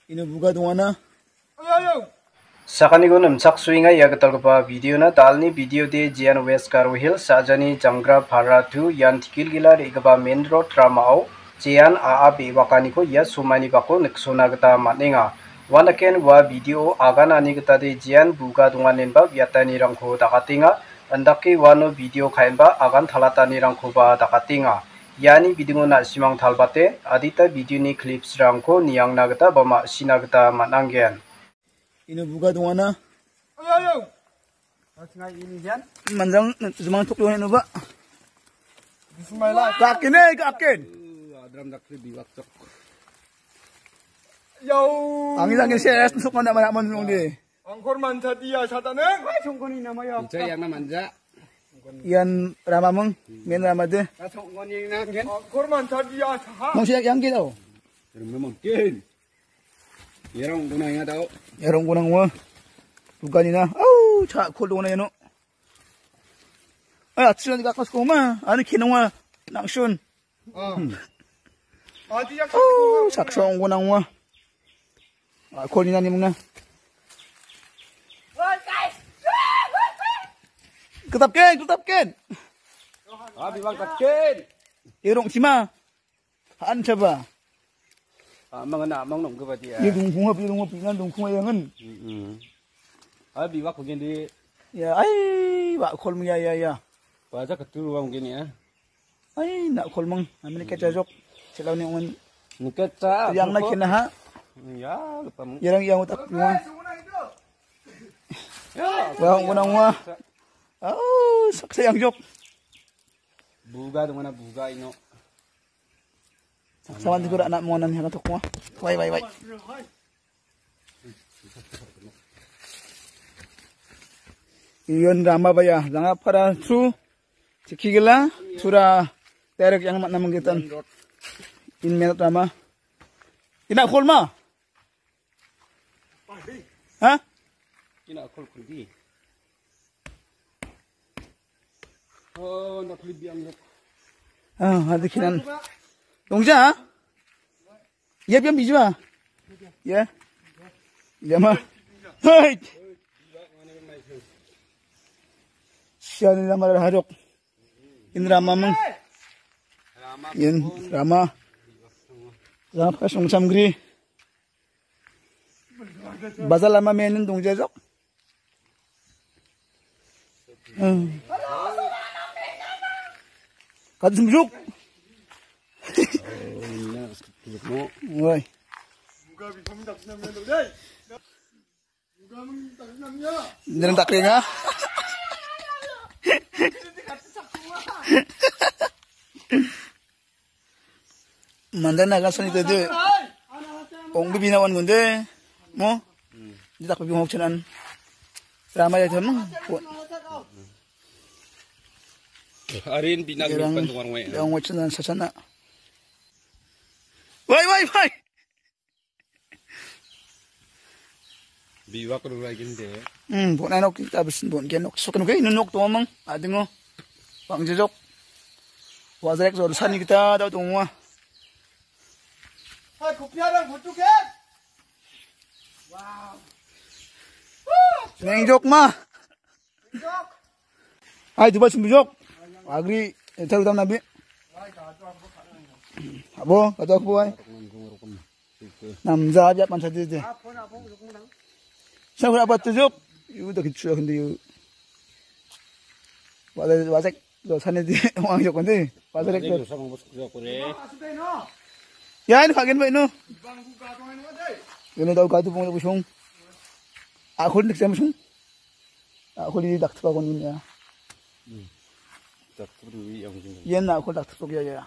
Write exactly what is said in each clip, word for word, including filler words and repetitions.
Ino buga dongana. Sakaniko nimchaksoenga ia gitalgipa videona. Dalni videode Jian West Garo Hills, Sajani Jangra Para two, ian Tikilgila re·gipa main road ramao Jian A A be·wakaniko ia somaini bako niksona gita man·enga. Uanaken ua video aganani gitade Jian buga donganenba biatanirangko dakatenga. Indake uano video ka·enba agan talatanirangkoba dakatenga. Iani bidingo na·simang talbate adita videoni clipsrangko niangna gita ba ma·sina gita man·angen. Ino buga dongana. Manjang jumang tok dongana inoba. Bismillah. Gakin, eh, gakin. Adram dakri biwak cok. Yo. Angin, angin, ses, sok mana, mana, mana, mana, mana. Angkor mancha dia satanen. Songkoni nama ya. Inca yang na manja. Ian ramamung, main ramade. Songkoni nang gen. Angkor mancha dia saha. Mung siak yang gitu. Ramamung kin. Yarong guna ya tau. Yarong guna ngwa. Bukan ina. Au, cha kol dona yano. Ah, atsu nanti kakas koma. Ani kinongwa nangsun. Ah. Ati yang. Oh, saksa ong guna ngwa. Ah, kol ina ni muna. Ketap ken, ketap ken. Ah, bibang ketap ken. Irong sima. Han chaba. Ah, mangana, mang nong keba dia. Ye dungkung ha, ye dungkung ha, pinan dungkung ha yangan. Hmm. Ah, bibak bagian di. Ya, ai, wa kol ya, ya, ya. Baja ketu ruang gini ya. Ai, nak kol mang. Ambil kecajok. Celau ni ungan. Ni keca. Yang nak kena ha. Ya, lupa mang. Yarang yang utak ruang. Ya. Wa unang wa. Oh, saksa yang jok. Buga dongana buga ino. Sawan tidur anak mau nanya kan tokwa. Wai, wai, wai. Iyon rama baya, ranga para su, ciki gela, sura terek yang mak namang kita. In menot rama. Ina kol ma? Ha? Ina kol kundi. Oh, nak lebih anggap. Ah, ada kinan. Dongja? Ya, biang biju ah. Ya. Ya ma. Hai. Sian ini nama harok. Indra mamang. Yan rama. Rama kasong samgri. Bazar lama menen dong jajok. Hmm. Kadu sumjuk. Woi. Nerang tak keringa. Manda naga sani tede. Ong bibi na wan gunde. Mo. Di tak bibi hok chenan. Ramai aja mong. Arin bina gerang. Gerang wacana sasana. Wai, wai, wai. Biwak rurai ginde. Hmm, bon nok kita besin bon gen nok sok nok ini nok tuamang adingo. Bang jejok. Wazrek zor sani kita ada tungwa. Hai, kopi ada butuh kan? Wow. Neng jok ma. Ai, dubai sumbujok. Agri, entar utam nabi. Abo, kata aku ai. Namja aja pan saja je. Saya apa tujuk? Yu udah gitu sudah gitu yu. Wajak, wajak, dosa nih di uang jok nanti. Wajak itu. Ya ini kagen baik no. Ini tahu katu pun busung. Aku nih saya busung. Aku di daktu aku ni ya. Hmm. Daktu di yang sini. Iya nak aku daktu ya ya.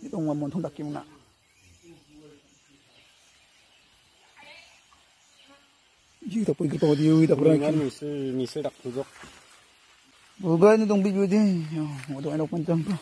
Itu ngomong monthong daktu mana? Iya tak pergi kau dia, iya tak pernah. Ini misil, misil daktu jok. Bukan itu dong biju deh. Yo, mau tu anak macam apa?